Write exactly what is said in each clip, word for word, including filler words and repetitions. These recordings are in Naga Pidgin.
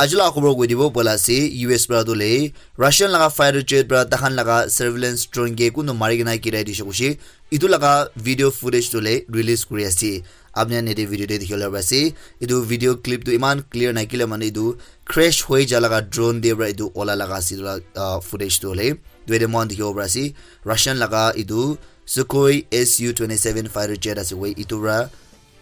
Aji laga khobor koi dibo bola ase, U S para tu le Russian laga fighter jet para tahan laga surveillance drone ke kuntu mari kena girai dishe koishe. Itu laga video footage tu le release kuri ase. Apni khan yate video te dikhi bole pari ase. Itu video clip tu iman clear nakile mane itu crash hoi ja laga drone te para itu ola laga ase itu la, ah, footage tu le. Itu yate moikhan dikhibo pari ase. Russian laga itu Sukhoi S U twenty-seven fighter jet ase koi. Itu para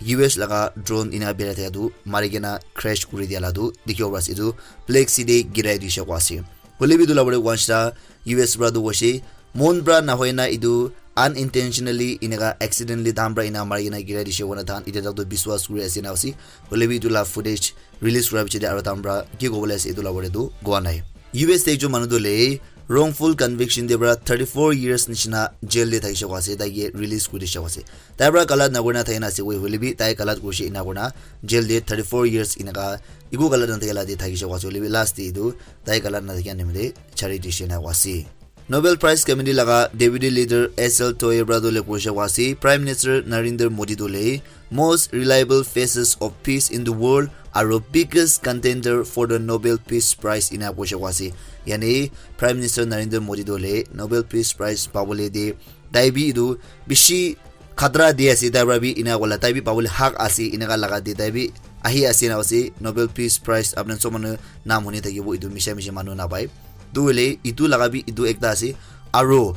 U S laga drone ina birai thaka tu mari kena crash kuri dia la tu dikhibo pari ase. Itu Black Sea te girai dishe koa ase. Hoile bi itu la pore once ta U S para tu hoishe, mon para nahoi na itu unintentionally inaka accidentally dam para ina mari kena girai dishe koina tahan ite tak tu biswas kuri ase na ase. Hoile bi itu la footage release kura piche te aro tahan para ki kobole ase itu la pore tu koa nai. U S te ekjon manu tu le wrongful conviction te para thirty-four years nishina jail te thakishe koa ase, tai ke release kuri dishe koa ase. Tai para galat nakurina thakina ase koi hoile bi tai galat kurishe ina kurina jail te thirty-four years inaka eku galat nathakila te thakishe koa ase, hoile bi last te etu tai galat nathakia nimite chari dishe ina koa ase. Nobel Prize Committee laga Deputy Leader S L Toye para tu le kurishe koa ase, Prime Minister Narendra Modi tu le most reliable faces of peace in the world aro biggest contender for the Nobel Peace Prize ina kurishe koa ase. Yani Prime Minister Narendra Modi tu le Nobel Peace Prize pabole de tai bi etu bishi khatra di ase, tai para bi ina kola tai bi pabole hak ase, inaka laga de tai bi ahi ase na ase. Nobel Peace Prize apni sob manu naam huni thakibo, etu misha misha manu napai. Tu hoile etu laga bi etu ekta ase. Aro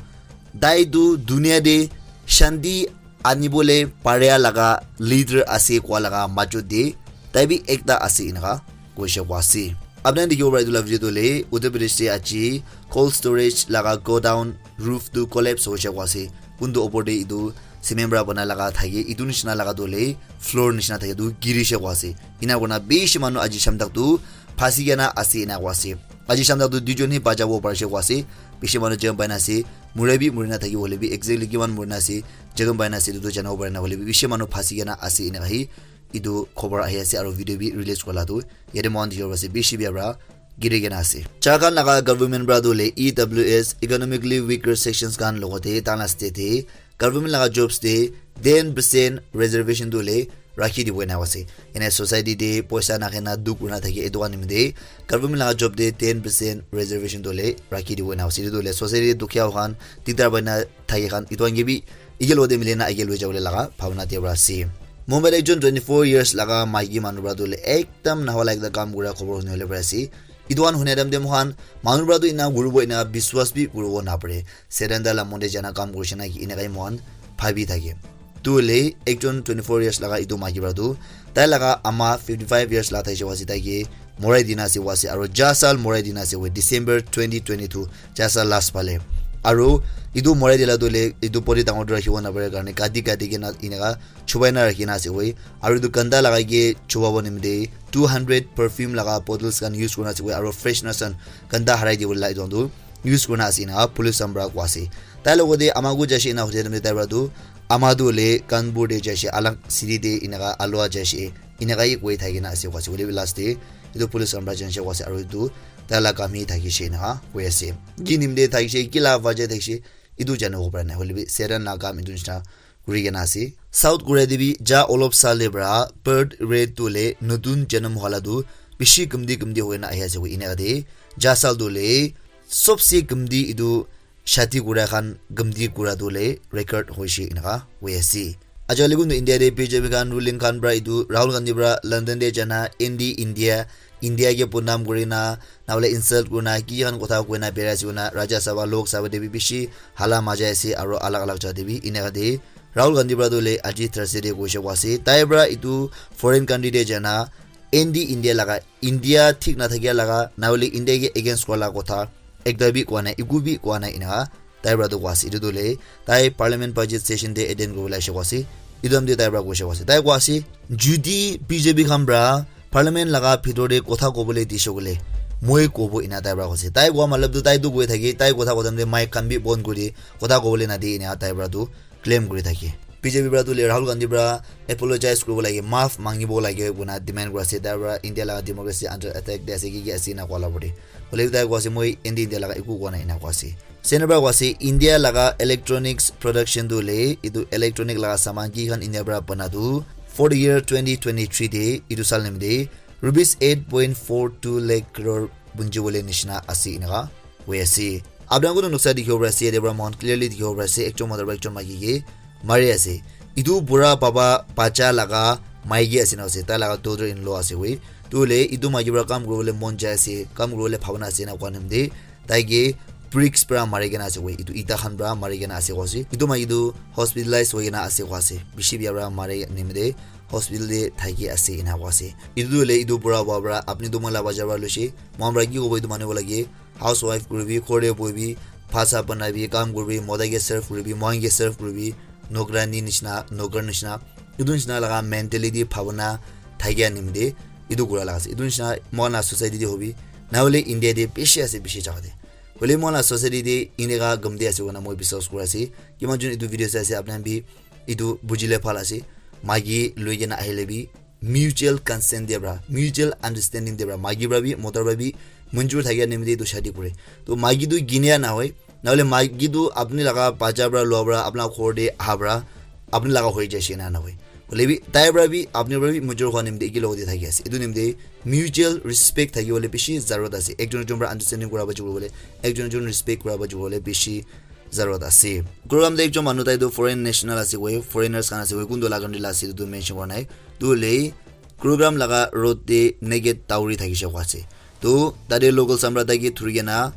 tai tu dunia te shanti anibole paria laga leader ase koa laga majot te tai bi ekta ase inaka koishe koa ase. Apni khan dikhibo para etu la video tu hoile Uttar Pradesh te aji cold storage laga godown roof tu collapse hoishe koa ase. Kuntu opor te etu cement para bana laga thake, etu nishina laga tu hoile floor nishina thake tu girishe koa ase. Ina kurina bishi manu aji sham tak tu phasi kena ase ina koa ase. Aji sham tak tu duijon hi bachabo parishe koa ase. Bishi manu jan pai na ase. Murai bi muri na thakibo hoile bi exactly kiman muri na ase, jan pai na ase, etu tu janibo pari na hoile bi bishi manu phasi kena ase ina hi etu khobor ahi ase aro video bi release kura la tu yate moikhan dikhibo ase bishi bia para giri kena ase. Jharkhand laga government para tu hoile E W S, economically weaker sections khan logote tahan la state te government laga jobs te ten percent reservation tu hoile rakhi dibo ena ase. Ene society te poisa nakhena dukh kurina thake etu khan nimite government laga job te ten percent reservation tu hoile rakhi dibo ena ase. Etu tu hoile society te dukhiya khan, dikdar paina thake khan etu khan ke bi eke logote mili na age loi jabole laga bhabna te para ase. Mumbai te ekjon twenty-four years laga maiki manu para tu hoile ekdam nahola ekta kam kura khobor huni bole pari ase. Etu khan huna time te moikhan manu para tu ena kuribo ena biswas bi kuribo napare. Satan taila mon te jana kam kurishe na ki, enakai moikhan bhabi thake. Tu hoile ekjon twenty-four years laga etu maiki para tu tai laga ama fifty-five years la thaishe koa ase, tai ke morai dina ase koa ase, aro ja sal morai dina ase koa, December twenty twenty-two, ja sal last phale. Aro etu morai dila tu hoile etu body dangor tu rakhibo napare karne kati kati kena enaka chubai na rakhina ase koa. Aro etu ganda lagai ke chubabo nimite two hundred perfume laga bottles khan use kurina ase koa, aro freshness khan ganda harai dibole la etu khan tu use kurina ase ena police khan para koa ase. Tai logote ama ku jaishe ena hote time te tai para tu ama tu hoile Kanpur te jaishe, alag city te enaka alua jaishe, enaka hi koi thakina ase koa ase. Hoile bi last te etu police khan para janshe koa ase aro etu tai la kam hi thakishe enaka koi ase. Ki nimite thakishe, ki la wajah thakishe, etu janibo para nai. Hoile bi Satan la kam etu nishina kuri kena ase. South Korea te bi ja olop sal te para birth rate tu hoile notun janam hola tu bishi kumti kumti hoina ahi ase koa enaka de. Ja sal tu hoile sobse kumti etu shadi kura khan gumti kura tu hoile record hoishe enaka hoi ase. Acha hoile kuntu India te B J P khan ruling khan para etu Rahul Gandhi para London te jana anti India, India ke bodnam kurina, na hoile insult kurina, ki khan kotha koina berai ase koina Rajya Sabha, Lok Sabha te bi bishi hala majai ase aro alag alag jaga te bi enaka de. Rahul Gandhi para tu hoile aji Thursday te koishe koa ase. Tai para etu foreign country te jana anti India laga, India thik nathakia laga, na hoile India ke against kura laga kotha ekta bi koa nai, eku bi koa nai enaka tai para tu koa ase. Etu tu hoile tai parliament budget session te attend kuribole aishe koa ase. Etu time te tai para koishe koa ase. Tai koa ase, judi B J P khan para parliament laga bhitor te kotha kobole dishe koile moi kobo ena tai para koise. Tai koa matlab tu tai tu koi thake, tai kotha kotam te mic khan bi bon kuri kotha kobole nadi ena tai para tu claim kuri thake. B J P para tu le Rahul Gandhi para apologize kuribo lage, maaf mangibo lage koina demand kuri ase. Tai para India laga democracy under attack de ase, ki ki ase ena koa la pore. Hoile bi tai koa ase, moi anti India laga eku koa nai ena koa ase. Center para koa ase, India laga electronics production tu hoile, etu electronic laga saman ki khan India para bana tu, for the year twenty twenty-three te, etu sal nimite rupees eight point four two lakh crore bunji bole nishina ase enika hoi ase. Apni khan noksa dikhibo pari ase, yate para moikhan clearly dikhibo pari ase, ekjon mota para ekjon maiki ke mari ase. Etu bura baba bacha laga maiki ase na ase, tai laga daughter in law ase hoi. Tu hoile etu maiki para kam kuribole mon jai ase, kam kuribole bhabana ase na koa nimite tai ke bricks para mari kena ase hoi. Etu ita khan para mari kena ase koa ase. Etu maiki tu hospitalize hoi kena ase koa ase. Bishi bia para mari nimite hospital te thaki ase ena koa ase. Etu tu hoile etu bura baba para apni tu moi la bacha para loise. Moikhan para ki kobo etu manu lage? Housewife kuribi, ghor te bohibi, bhasa banabi, kam kuribi, mota ke serve kuribi, moikhan ke serve kuribi, nokrani nishina, nokar nishina, etu nishina laga mentality bhabana thakia nimite etu kura laga ase. Etu nishina moikhan la society te hobi, na hoile India te bishi ase, bishi jaga te. Hoile moikhan la society te eneka gamde ase koina moi biswas kura ase. Kiman jun etu video sai ase, apni khan bi etu bujile bhal ase. Maiki loi kena ahile bi mutual consent dia pra, mutual understanding dia pra, maiki pra bi, mota pra bi, manjur thakia nimite etu shadi kure. To maiki tu ginia na hoi, na hole maiki tu apni laga bacha pra, lua pra, apna ghor te aha pra, apni laga hoi jaise na na hoi. Hoile bi, tai pra bi, apni pra bi, manjur hwa nimite eki logote thaki ase. Etu nimite mutual respect thaki bole bishi zarurat ase. Ekjon ekjon pra understanding kura ba jibole, ekjon ekjon respect kura ba jibole bishi zarurat ase. Program te ekjon manu tai tu foreign national ase koi, foreigners khan ase koi, kuntu laga country la ase etu tu mention kora nai. Tu hoile program laga road te naked dawri thakishe koi ase. Tu tate local samra tai ke thuri kena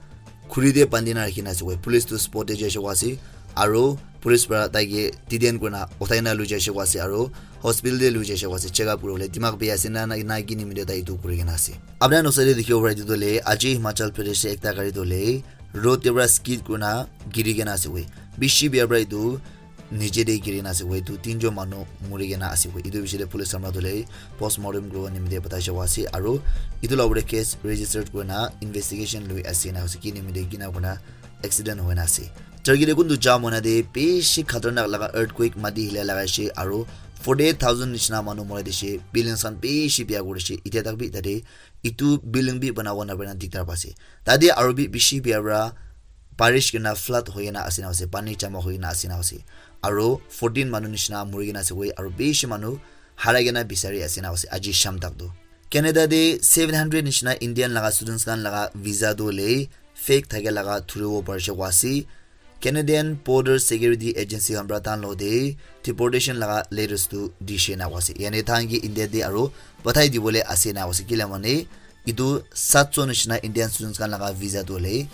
khuri te bandi na rakhi na ase koi. Police tu spot te jaishe koi ase. Aro police para tai ke detain kurina uthai na lui jaishe koi ase. Aro hospital te lui jaishe koi ase. Check up kuribole dimag bia ase na, na, na ki nimite tai etu kuri kena ase. Apna noksa te dikhibo pare etu tu hoile aji Himachal Pradesh te ekta gari tu hoile road te para skid kurina giri kena ase koi. Bishi bia para etu niche te giri na ase koi. Etu tinjon manu muri kena ase koi. Etu bishi te police samra tu hoile postmortem kuribo nimite patai jabo ase. Aro etu la upor te case registered kurina investigation lui ase na ase ki nimite kina kurina accident hoi na ase. Turkey te kuntu jam hoi na te bishi khatarnak laga earthquake mati hila laga ase aro forty eight thousand nishina manu mori dishe, buildings khan bishi bia kuri dishe. Itya tak bi tate etu building bi bana bo na bana diktar pa ase. Tate aro bi bishi bia pra barish kena flood hoi kena ase na ase, pani jama hoi kena ase na ase. Aro fourteen manu nishina muri kena ase koi, aro bishi manu harai kena bisari ase na ase aji sham tak tu. Canada te seven hundred nishina Indian laga students khan laga visa tu hoile fake thake laga thuribo parishe koi ase. Canadian Border Security Agency khan pra tan lo te deportation laga letters tu dishe na ase. Yani than ki India te aro pathai dibole ase na ase. Kila mane etu satso nishina Indian students khan laga visa tu hoile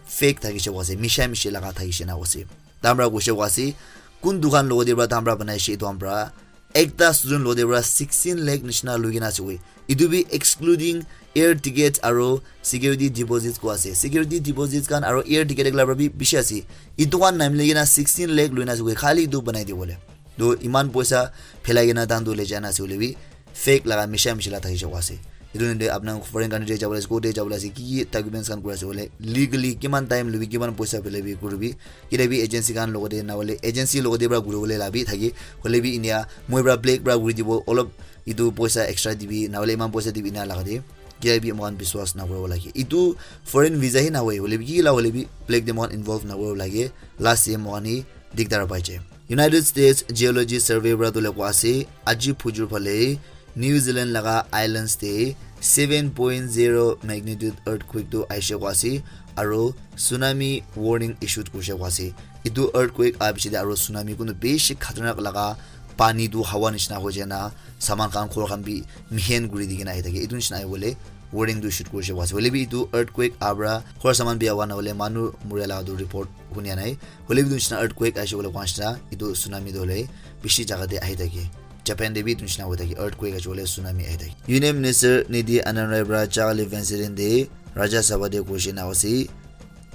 fake thakishe koi ase, misha mishi laga thakishe na ase. Tamra koshe koi ase, kun dukan logo de pra tamra banai she etu amra ekta student lo de pra sixteen lakh nishina lui kena ase koi. Etu bi excluding air tickets aro security deposits koi ase. Security deposits khan aro air ticket ekla pra bi bishi ase. Etu khan namile kena sixteen lakh lui na ase koi. Khali etu banai dibole. To iman poisa phelai kena dan tu le jana ase hoile bi fake laga misha misha la thaki jabo ase. Etu nde apna foreign country te jabo le ase, kote jabo le ase, ki ki documents khan kura ase hoile, legally kiman time lobi, kiman poisa phelai bi kuribi. Kile bi agency khan logote na hoile agency logote pra guri bole la bi thaki. Hoile bi India moi pra black pra guri dibo, olop etu poisa extra dibi, na hoile iman poisa dibi ena laga de. Kile bi mohan biswas na kuribo lage. Etu foreign visa hi na hoi, hoile bi ki la hoile bi black de mohan involve na kuribo lage. Last year mohan hi dikdar pai jai. United States Geology Survey pra tu le koi ase, aji phujur phale New Zealand laga islands te seven point zero magnitude earthquake tu aishe koi ase, aro tsunami warning issued kurishe koi ase. Etu earthquake aha piche te aro tsunami kunu bishi khatarnak laga pani tu hawa nishina hoi jai na saman khan ghor khan bi mihen kuri di kena ahi thake. Etu nishina ahi bole warning tu issued kurishe koi ase. Hoile bi etu earthquake aha pra ghor saman biya hwa na hoile manu muria laga tu report hunia nai. Hoile bi etu nishina earthquake aishe koile koi nishina etu tsunami tu hoile bishi jaga te ahi thake. Japan te bi etu nishina hoi thake, earthquake aishe koile tsunami ahi thake. Union Minister Niti Anand Rai pra Chakali incident te Rajya Sabha te koishe na ase,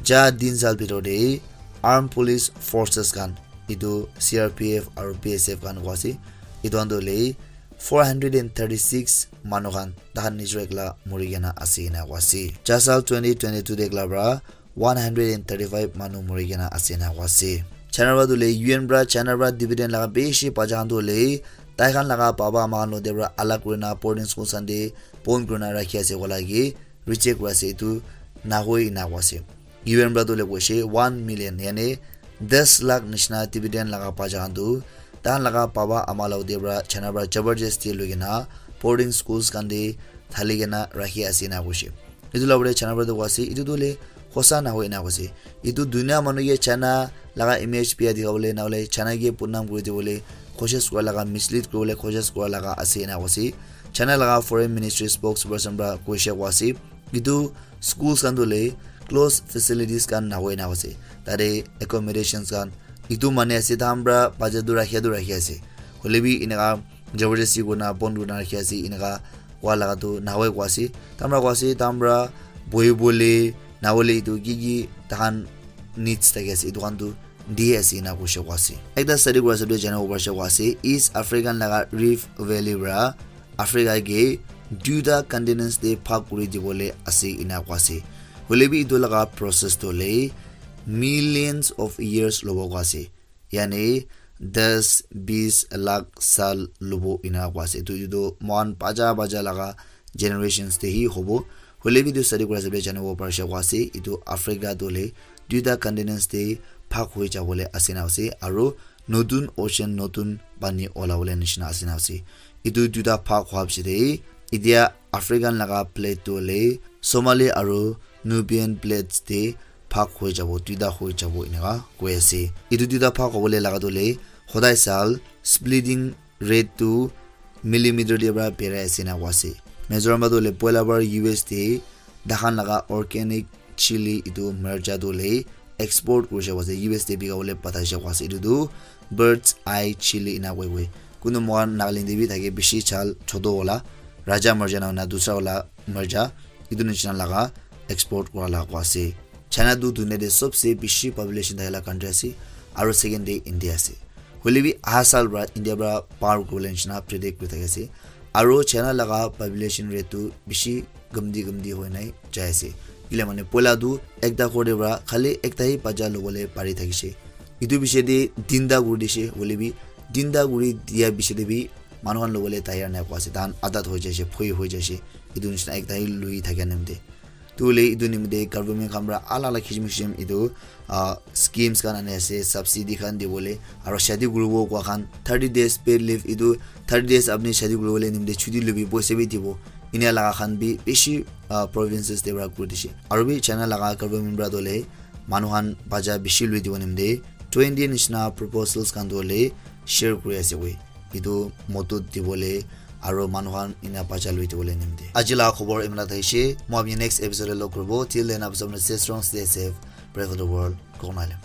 ja tin sal bhitor te armed police forces khan, etu C R P F aro B S F khan koi ase, etu khan tu hoile four hundred and thirty six manu khan tahan nijor ekla muri kena ase ena koi ase. Ja sal twenty twenty two te ekla pra one hundred and thirty five manu muri kena ase ena koi ase. China pra tu hoile U N pra China pra dividend laga bishi bacha khan tu hoile tai khan laga baba ama khan lo de pra alag kurina boarding school khan te bon kurina rakhi ase koa lage reject kuri ase, etu na hoi ena koi ase. U N pra tu hoile koishe one million yani das lakh nishina dividend laga bacha khan tu tahan laga baba ama lo de pra China pra jabardasti lui kena boarding schools khan te thali kena rakhi ase ena koise. Etu la pore China para tu koise, etu tu le hosa na hoi ena koise. Etu dunia manu ke China laga image bia dikha bole na hole China ke bodnam kuri dibole koshish kura laga, mislead kuri bole koshish kura laga ase ena koise. China laga foreign ministry spokesperson para koise koise. Etu schools khan tu le close facilities khan na hoi ena koise. Tate accommodations khan etu mane ase, tahan para bacha tu rakhia tu rakhi ase. Hoile bi eneka jabardasti kurina bon kurina rakhi ase, eneka koa laga tu nahoi koa ase. Tahan para koa ase, tahan para bohi bole, nahole etu ki ki tahan needs thaki ase, etu khan tu di ase ena koise koa ase. Ekta study kura hisab te jana bo parise koa ase, East African laga Rift Valley para Africa ke duita continents te bhag kuri dibole ase ena koa ase. Hoile bi etu laga process tu le millions of years lobo koa ase. Yani das bis lakh sal lobo ena koa ase. Etu, etu mohan bacha bacha laga generations te hi hobo. Hoile bi etu study kura hisab te jana bo parise koa ase, etu Africa tu le duita continents te bhag hoi jabole ase na ase, aru notun ocean, notun pani ola bole nishina ase na ase. Etu duita bhag hua piche te, etia African laga plate tu le Somali aru Nubian plates te bhag hoi jabo, duita hoi jabo eneka koi ase. Etu duita bhag hobole laga tu le hodai sal splitting rate tu millimeter te para berai ase na koa ase. Mizoram para tu le poila bar U S te dahan laga organic chili etu mircha tu le export kuri jabo ase, U S te bika bole pathai jabo ase. Etu tu bird's eye chili ena koi koi. Kunu mohan Nagaland te bi thake bishi chal choto wala, raja mircha na hona dusra wala mircha, etu nishina laga export kura laga koa ase. China tu dunia te sobse bishi population thaka la country ase, aru second te India ase. Hoile bi aha sal para India para par kuri bole nishina predict kuri thaki ase. Aru China laga population rate tu bishi gamdi gamdi hoi nai jai ase. Kile mane poila tu ekta ghor te para khali ekta hi bacha lobole pari thakishe. Etu piche te tinta kuri dishe, hoile bi tinta kuri dia piche te bi manu khan lobole tayar nai koa ase. Tahan adat hoi jaise, phoi hoi jaise. Etu nishina ekta hi lui thakia nimite. Tu le etu nimite government khan para alag alag kisim kisim etu, ah, schemes khan ani ase, subsidy khan dibole, aru shadi kuribo koa khan thirty days paid leave, etu thirty days apni shadi kuribole nimite chuti lobi, poisa bi dibo. Enia laga khan bi bishi, ah, provinces te para kuri dishe. Aru bi China laga government para tu le manu khan bacha bishi lui dibo nimite twenty nishina proposals khan tu le share kuri ase koi. Etu modot dibole aru manu khan ena bacha lui dibole nimite. Aji laga khobor imla thaishe, moi apni next episode te log kuribo. Till then, apni sob stay strong, stay safe, pray for the world. Kok Nai Lem.